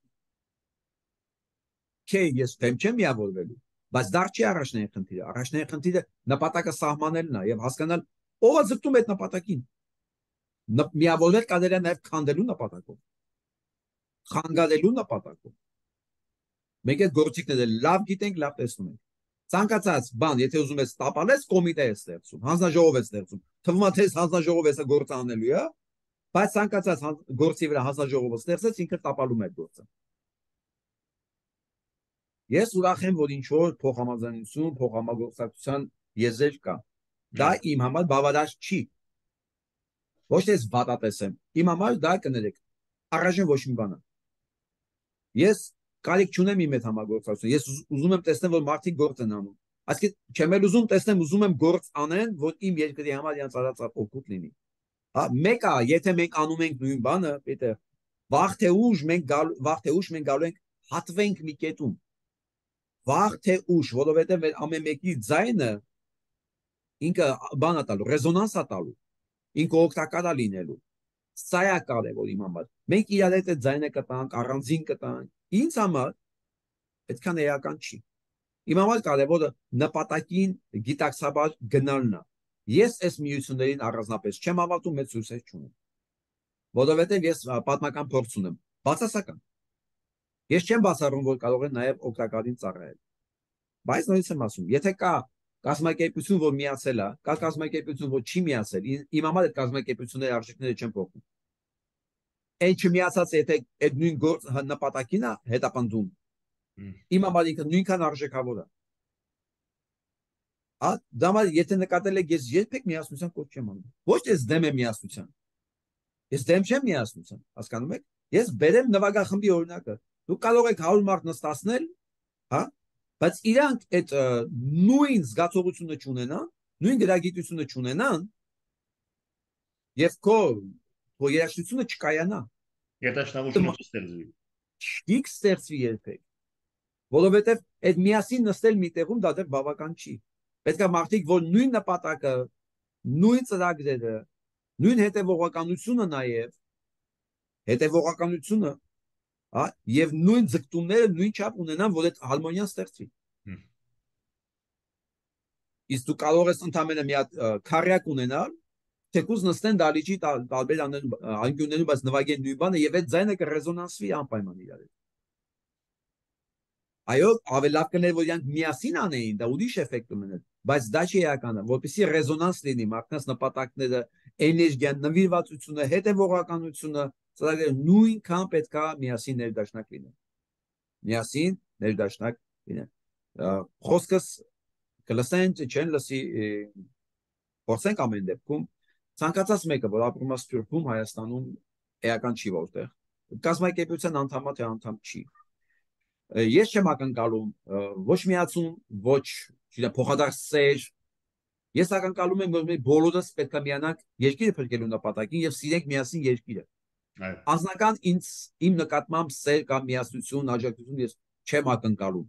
S2: Չէ, ես դեմ չեմ միավորվելու։ Բայց դա չի առաջնային խնդիրը, առաջնային խնդիրը նպատակը սահմանելն է եւ հասկանալ ով է ձգտում այդ նպատակին։ Միավորվել կարելի է նաեւ քանդելու նպատակով։ Խանգարելու նպատակով։ Մենք այդ գործիքները լավ գիտենք, լավ տեսնում ենք։ Ցանկացած բան, եթե ուզում ես տապալես, կոմիտե է ստեղծում, հանձնաժողով է ստեղծում։ Թվում է թե հանձնաժողովը է գործ անելու է, բայց ցանկացած գործի վրա հանձնաժողովը ստեղծեց, ինքը տապալում է այդ գործը։ Ես ուրախ եմ, որ ինչ որ փոխհամաձայնություն, փոխհամագործակցության եզր կա։ Դա իմ համար բավարար չի։ Ոչ թե վատատես եմ։ Իմ համար դա կներեք։ Առայժմ ոչ մի բան։ Ես կարիք չունեմ իմ այդ համագործակցություն։ Ես ուզում եմ տեսնել, որ մարդիկ գործ են անում։ Այսինքն չեմ էլ ուզում տեսնեմ, ուզում եմ գործ անեն, որ իմ երկրի համար իրենց արածը օգուտ լինի։ Հա, մեկը, եթե մենք անում ենք նույն բանը, պետք է Վաղ թե ուշ մենք գալ վաղ թե ուշ մենք գալու ենք հատվենք մի կետում։ Վաղ թե ուշ, որովհետև մեր ամեն մեկի ձայնը ինքը բան է տալու, ռեզոնանս է տալու, ինքը օգտակար է լինելու։ Սա է կարևոր իմ համար։ Մենք իրար հետ ձայնը կտանք, առանձին կտանք։ Ինձ համար այդքան էական չի։ Իմ համար կարևորը նպատակին գիտակցաբար գնալն է։ Ես այս միություններին առանձնապես չեմ հավատում, մեծ հույսեր չունեմ։ Որովհետև ես պատմական փորձ ունեմ, բացասական։ Ես չեմ բացառում, որ կարող են նաև օգտակարին ծառայել։ Բայց նույնիսկ եմ ասում, եթե կա կազմակերպություն, որ միացել է, կա կազմակերպություն, որ չի միացել, իմ համար այդ կազմակերպությունների արժեքները չեն փոխվում։ Այդ չմիացած եթե այդ նույն գործ նպատակին է հետապնդում, իմ համար ինքը նույնքան արժեքավոր է։ Ա դամա եթե նկատել եք ես երբեք միասնության կոչ չեմ անում։ Ոչ թե ես դեմ եմ միասնության։ Ես դեմ չեմ միասնության, հասկանում եք։ Ես բերեմ նվագախմբի օրինակը։ Դուք կարող եք հարյուր մարդ նստացնել, հա, բայց իրանք այդ նույն զգացողությունը չունենան, նույն գրագիտությունը չունենան, եւ քո քո երաշխությունը չկայանա։
S1: Երաշխությունը չստեղծվի։
S2: Չի ստեղծվի երբեք։ Որովհետեւ այդ միասին նստել մի տեղում դա դեռ բավական չի։ Պետք է մարդիկ, որ նույն նպատակը, նույն ծրագրերը, նույն հետևողականությունը նաև, հետևողականությունը, հա, եւ նույն ձգտումները նույն չափ ունենան, որ այդ հարմոնիան ստեղծվի։ Իսկ դու կարող ես ընդամենը մի հատ քարյակ ունենալ, թեկուզ նստեն դալիճի տարբեր անկյուններում, բայց նվագեն նույն բանը եւ այդ ձայնը կռեզոնանսվի անպայման իրար հետ։ Այո, ավելի լավ կներ, որ իրանք միասին անեին, դա ուրիշ էֆեկտ ունեներ, բայց դա չի էականը, որպեսզի ռեզոնանս լինի մարդկանց նպատակները, էներգիան, նվիրվածությունը, հետևողականությունը, ծրագրերը նույնքան պետք է միասին ներդաշնակ լինեն։ Միասին ներդաշնակ լինեն։ Խոսքս կլսեն, չեն լսի, փորձենք ամեն դեպքում, ցանկացած մեկը, որ ապրում է Սփյուռքում, Հայաստանում, էական չի որտեղ, կազմակերպության անդամ թե անդամ չի։ Ես չեմ ակնկալում ոչ միացում, ոչ փոխադարձեր։ Ես ակնկալում եմ, որ մենք բոլորս պետք է միանանք երկիրը փրկելու նպատակին եւ սիրենք միասին երկիրը։ Անձնական ինձ իմ նկատմամբ սեր կամ միասնություն, աջակցություն ես չեմ ակնկալում։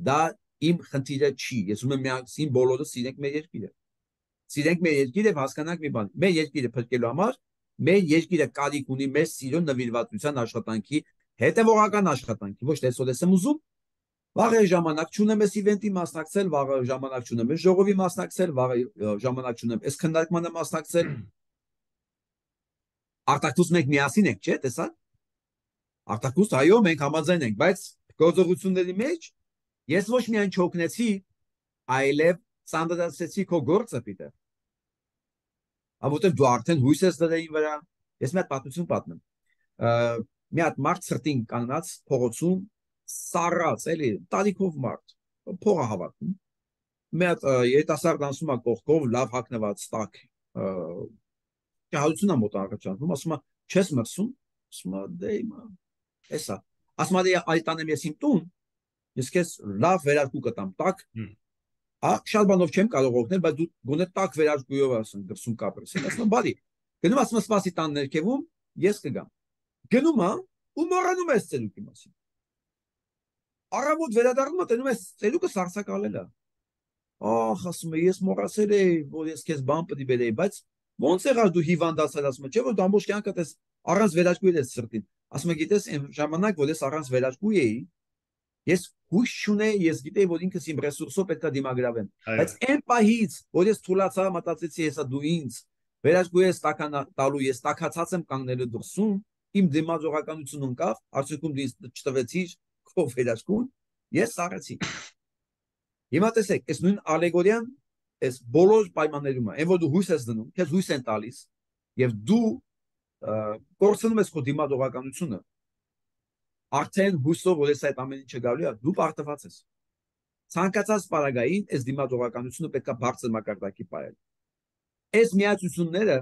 S2: Դա իմ խնդիրը չի։ Ես ուզում եմ միասին բոլորս սիրենք մեր երկիրը։ Սիրենք մեր երկիրը եւ հասկանանք մի բան։ Մեր երկիրը փրկելու համար մեր երկիրը կարիք ունի մեր սիրո նվիրվածության աշխատանքի, հետևողական աշխատանքի, ոչ թե այսօր եմ ուզում, վաղ ժամանակ չունեմ այս իվենտի մասնակցել, վաղ ժամանակ չունեմ այս ժողովի մասնակցել, վաղ ժամանակ չունեմ այս քննարկմանը մասնակցել։ Արտակուս մենք միասին ենք, չէ՞, տեսա՞ք։ Արտակուս այո, մենք համաձայն ենք, բայց գործողությունների մեջ ես ոչ միայն չօգնեցի, այլև ծանրացեցի քո գործը պիտի։ Որտեղ դու արդեն հույս ես դրել ինձ վրա, ես մի հատ պատմություն պատմեմ։ Մի հատ մարդ սրտին կանգնած փողոցում սառած, էլի, տարիքով մարդ, փողը հավաքում։ Մի հատ երիտասարդ անցում է կողքով, լավ հագնված, տաք, ճահալություն է մոտ առաջանում, ասում է, չես մրսում, ասում է, դե հիմա, էսա, ասում է, այդ տանեմ ես իմ տուն, ես քեզ լավ վերարկու կտամ, տաք, շատ բանով չեմ կարող օգնել, բայց դու գոնե տաք վերարկուով ասում, դրսում կապրես, ասում եմ, բարի, գնում ասում եմ, սպասի տան ներքևում, ես կգամ։ Գնում է ու մոռանում ես ծելուկի մասին։ Առավոտ վերադառնում տենում ես ծելուկը սարսակալել է։ Ահ, ասում է, ես մոռացել էի, որ ես քեզ բան պետք է բերեի, բայց ոնց եղավ դու հիվանդացել, ասում է, չէ՞ որ դու ամբողջ կյանքդ ես առանց վերարկուի ես սրտին։ Ասում է, գիտես, այն ժամանակ, որ ես առանց վերարկուի էի, ես հույս չունեի, ես գիտեի, որ ինքս իմ ռեսուրսով պետք է դիմագրավեմ։ Բայց այն պահից, որ ես թուլացա, մտածեցի, հեսա դու ինձ վերարկուի ես տաքան տալու, ես տաքացած եմ կանգնելու դրսում, իմ դիմադրողականությունն ընկավ, արդյունքում դու չտվեցիր քո վերարկուն, ես սառեցի։ Հիմա տեսեք, այս նույն ալեգորիան, այս բոլոր պայմաններում է, այն որ դու հույս ես դնում, քեզ հույս են տալիս, եւ դու կորցնում ես քո դիմադրողականությունը, արդեն հույսով որ ես այդ ամեն ինչը գալու է, դու պարտված ես։ Ցանկացած պարագային այս դիմադրողականությունը պետք է բարձր մակարդակի պահել։ Այս միացությունները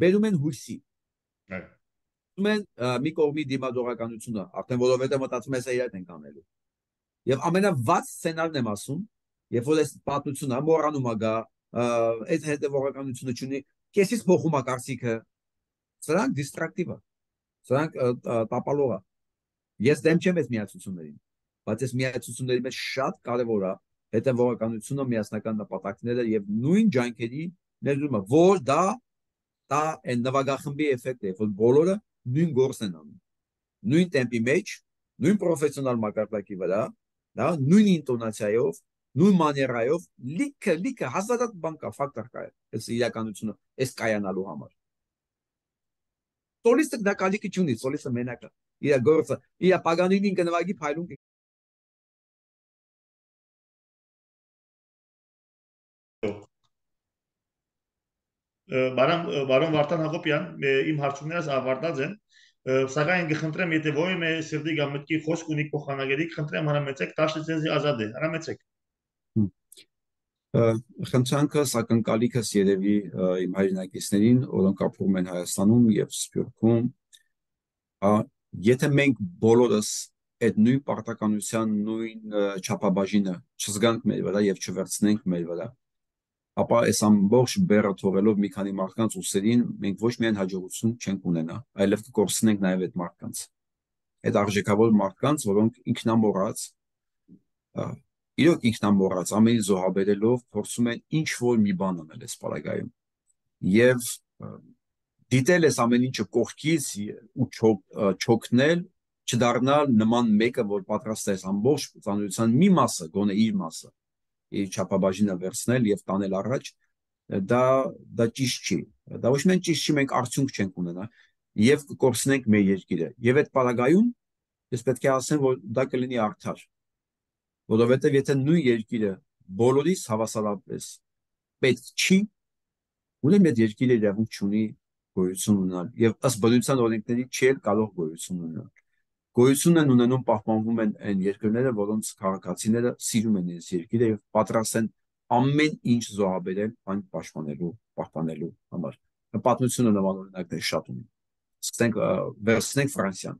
S2: բերում են հույսի։ Ում են մի կողմի դիմադրողականությունը, արդեն որովհետեւ մտածում ես իրար ենք անելու։ Եվ ամենավատ սցենարն եմ ասում, երբ որ այս պատմությունը մոռանում է գա, այդ հետևողականությունը չունի, քեսից փոխում է կարծիքը, սրանք դիստրակտիվ է։ Սրանք տապալող է։ Ես դեմ չեմ այս միացություններին, բայց այս միացությունների մեջ շատ կարևոր է հետևողականությունը, միասնական նպատակները եւ նույն ջանքերի ներդրումը, որ դա դա այն նվագախմբի էֆեկտ է, որ բոլորը նույն գործն են անում, նույն տեմպի մեջ, նույն պրոֆեսիոնալ մակարդակի վրա, դա նույն ինտոնացիայով, նույն մաներայով, լիքը լիքը հազարատ բան կա, ֆակտոր կա, այս իրականությունը, այս կայանալու համար։ Սոլիստը դա կալիքի չունի, սոլիստը մենակ է։ Իր գործը, իր Պագանինին կնվագի փայլուն
S1: Բարոն բարոն Վարդան Հակոբյան, իմ հարցումներս ավարտած են, սակայն կխնդրեմ, եթե ոյ մե սրդի գամտքի խոսք ունի փոխանագերի, կխնդրեմ հրամեցեք տաշ լիցենզի ազատ է, հրամեցեք։
S2: Խնդրանքս ակնկալիքս երևի իմ հայրենակիցներին, որոնք ապրում են Հայաստանում եւ Սփյուռքում, եթե մենք բոլորս այդ նույն պարտականության, նույն չափաբաժինը չզգանք մեր վրա եւ չվերցնենք մեր վրա, ապա այս ամբողջ բեռը թողելով մի քանի մարդկանց ուսերին, մենք ոչ միայն հաջողություն չենք ունենա, այլև կկորցնենք նաեւ այդ մարդկանց, այդ արժեքավոր մարդկանց, որոնք ինքնամոռաց, իրոք ինքնամոռաց, ամեն ինչ զոհաբերելով փորձում են ինչ որ մի բան անել այս պարագայում եւ դիտել այս ամեն ինչը կողքից ու չոքնել, չդառնալ նման մեկը, որ պատրաստ է ամբողջ ծանոթության մի մասը, գոնե իր մասը, իր չափաբաժինը վերցնել եւ տանել առաջ, դա դա ճիշտ չի, դա ոչ միայն ճիշտ չի, մենք արդյունք չենք ունենա եւ կկորցնենք մեր երկիրը եւ այդ պարագայում ես պետք է ասեմ, որ դա կլինի արդար, որովհետեւ եթե նույն երկիրը բոլորիս հավասարապես պետք չի, ուրեմն այդ երկիրը իրավունք չունի գոյություն ունենալ եւ ըստ բնության օրենքների չի կարող գոյություն ունենալ։ Գոյություն են ունենում, պահպանվում են այն երկրները, որոնց քաղաքացիները սիրում են այս երկիրը եւ պատրաստ են ամեն ինչ զոհաբերել այն պաշտպանելու, պահպանելու համար։ Պատմությունը նման օրինակներ շատ ունի։ Սկսենք վերցնենք Ֆրանսիան,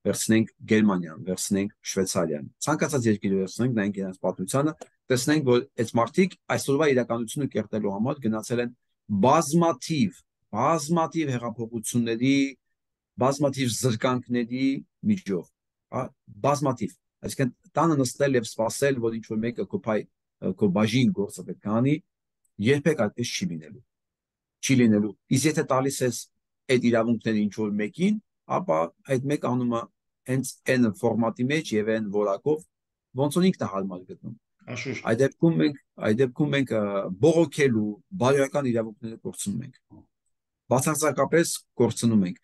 S2: վերցնենք Գերմանիան, վերցնենք Շվեյցարիան, ցանկացած երկիր վերցնենք, նայենք իրենց պատմությանը, տեսնենք, որ այս մարդիկ այսօրվա իրականությունը կերտելու համար գնացել են բազմաթիվ, բազմաթիվ հեղափոխությունների, բազմաթիվ զրկանքների միջով, բազմաթիվ, այսինքն տանը նստել եւ սպասել, որ ինչ որ մեկը կոփայ քո բաժին գործը պետք է անի, երբեք այդպես չի լինելու։ Չի լինելու։ Իսկ եթե տալիս ես այդ իրավունքները ինչ որ մեկին, ապա այդ մեկը անում է հենց այն ֆորմատի մեջ եւ այն որակով, ոնց որ ինքն է հարմար գտնում։ Այդ դեպքում մենք, այդ դեպքում մենք բողոքելու բարոյական իրավունքները կորցնում ենք։ Բացարձակապես կորցնում ենք։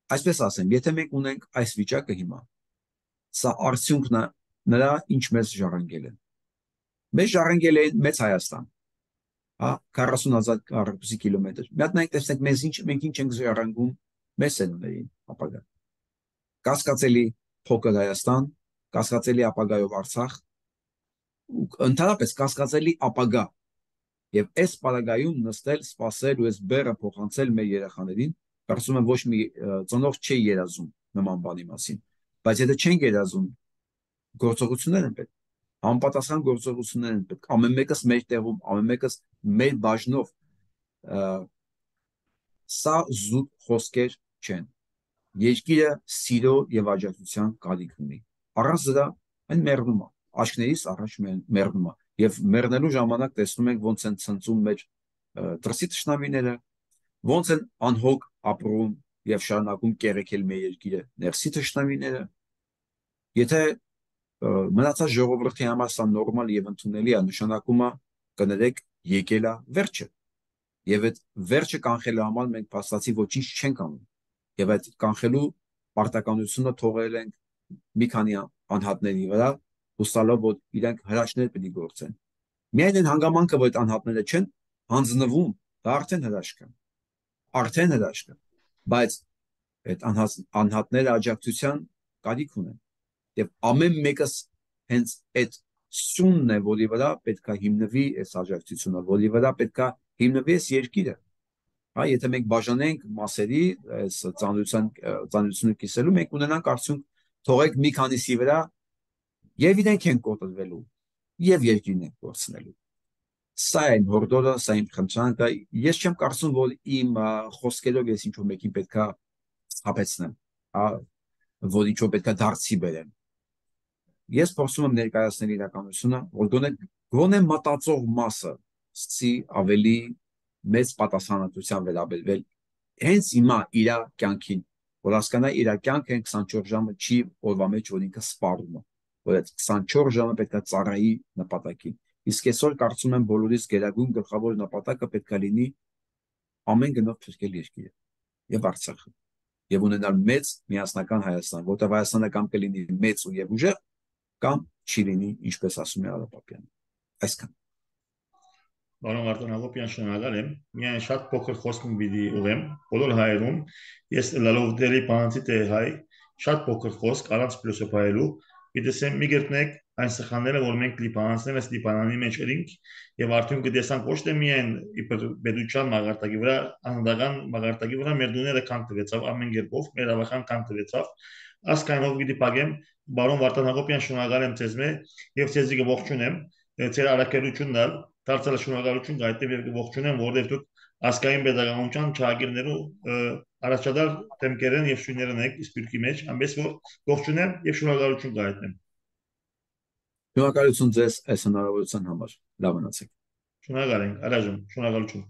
S2: Այսպես ասեմ, եթե մենք ունենք այս վիճակը հիմա, սա արդյունքն է նրա, ինչ մեզ ժառանգել են։ Մեզ ժառանգել են մեծ Հայաստան, հա, քառասուն հազար քառակուսի կիլոմետր։ Մի հատ նայեք, տեսնենք, մեզ ինչ, մենք ինչ ենք ժառանգում մեզ սերունդներին ապագա։ Կասկածելի փոքր Հայաստան, կասկածելի ապագայով Արցախ, ընդհանրապես կասկածելի ապագա։ Եվ այս պարագայում նստել, սպասել ու այս բեռը փոխանցել մեր երեխաներին, կարծում եմ ոչ մի ծնող չի երազում նման բանի մասին, բայց եթե չեն երազում, գործողություններ են պետք, համապատասխան գործողություններ են պետք, ամեն մեկս մեր տեղում, ամեն մեկս մեր բաժնով, սա զուտ խոսքեր չեն, երկիրը սիրո եւ աջակցության կարիք ունի, առանց դրա այն մեռնում է, աչքներիս առաջ մեռնում է, եւ մեռնելու ժամանակ տեսնում ենք ոնց են ցնծում մեր դրսի թշնամիները, ոնց են անհոգ ապրում եւ շարունակում կերեկել մեր երկիրը ներսի թշնամիները։ Եթե մնացած ժողովրդի համար սա նորմալ եւ ընդունելի է, նշանակում է կներեք եկել է վերջը։ Եվ այդ վերջը կանխելու համար մենք փաստացի ոչինչ չենք անում։ Եվ այդ կանխելու պարտականությունը թողել ենք մի քանի անհատների վրա, հուսալով, որ իրենք հրաշքներ պետք է գործեն։ Միայն այն հանգամանքը, որ այդ անհատները չեն հանձնվում, դա արդեն հրաշք է։ Արդեն հրաշք է։ Բայց այդ անհատները աջակցության կարիք ունեն։ Եվ ամեն մեկս հենց այդ սյունն է, որի վրա պետք է հիմնվի այս աջակցությունը, որի վրա պետք է հիմնվի այս երկիրը։ Հա, եթե մենք բաժանենք մասերի, այս ծանոթության ծանոթությունը կիսելու, մենք ունենանք արդյունք, թողեք մի քանիսի վրա եւ իրենք են կոտրվելու, եւ երկիրն են կորցնելու։ Սա է հորդորը, սա իմ խնդրանքը։ Ես չեմ կարծում, որ իմ խոսքերով ես ինչ-որ մեկին պետք է սթափեցնեմ։ հա, որ ինչ-որ պետք է դարձի բերեն։ Ես փորձում եմ ներկայացնել իրականությունը, որ գոնե գոնե մտածող մասը սկսի ավելի մեծ պատասխանատվությամբ վերաբերվել հենց հիմա իր կյանքին, որ հասկանա իր կյանքը քսանչորս ժամը չի օրվա մեջ, որ ինքը սպառում է, որ այդ քսանչորս ժամը պետք է ծառայի նպատակին։ Իսկ այսօր կարծում եմ բոլորիս գերագույն գլխավոր նպատակը պետք է լինի ամեն գնով փրկել երկիրը եւ Արցախը եւ ունենալ մեծ միասնական Հայաստան, որտեղ Հայաստանը կամ կլինի մեծ ու եւ ուժեղ, կամ չի լինի, ինչպես ասում է Արապապյանը։ Այսքան։
S1: Բարոն Արտոն Հակոբյան, շնորհակալ եմ։ Միայն շատ փոքր խոսք պիտի ուղեմ բոլոր հայերում։ Ես լալով դերի բանացի թե հայ, շատ փոքր խոսք առանց փիլիսոփայելու։ Գիտեսեմ մի գտնեք այն սխալները, որ մենք լիբանանցները լիբանանի մեջ էինք եւ արդյոք գտեսանք ոչ թե միայն իբր բեդուչան մագարտակի վրա, անհատական մագարտակի վրա մեր դուները կան տվեցավ ամեն կերպով, մեր ավական կան տվեցավ։ Ասկայնով գիտի պագեմ բարոն Վարդան Հակոբյան, շնորհակալ եմ ձեզ մե եւ ձեզի ողջունեմ ձեր արակելությունն դարձել շնորհակալություն գայտեմ եւ ողջունեմ, որովհետեւ դուք ասկային pedagogical ճակերներու առաջադար թեմքերն եւ շուներն եք սպիրկի մեջ, ամենից որ ողջունեմ եւ շնորհակալություն գայտնեմ։
S2: Շնորհակալություն ձեզ այս հնարավորության համար։ Լավ մնացեք։
S1: Շնորհակալ ենք, առայժմ շնորհակալություն։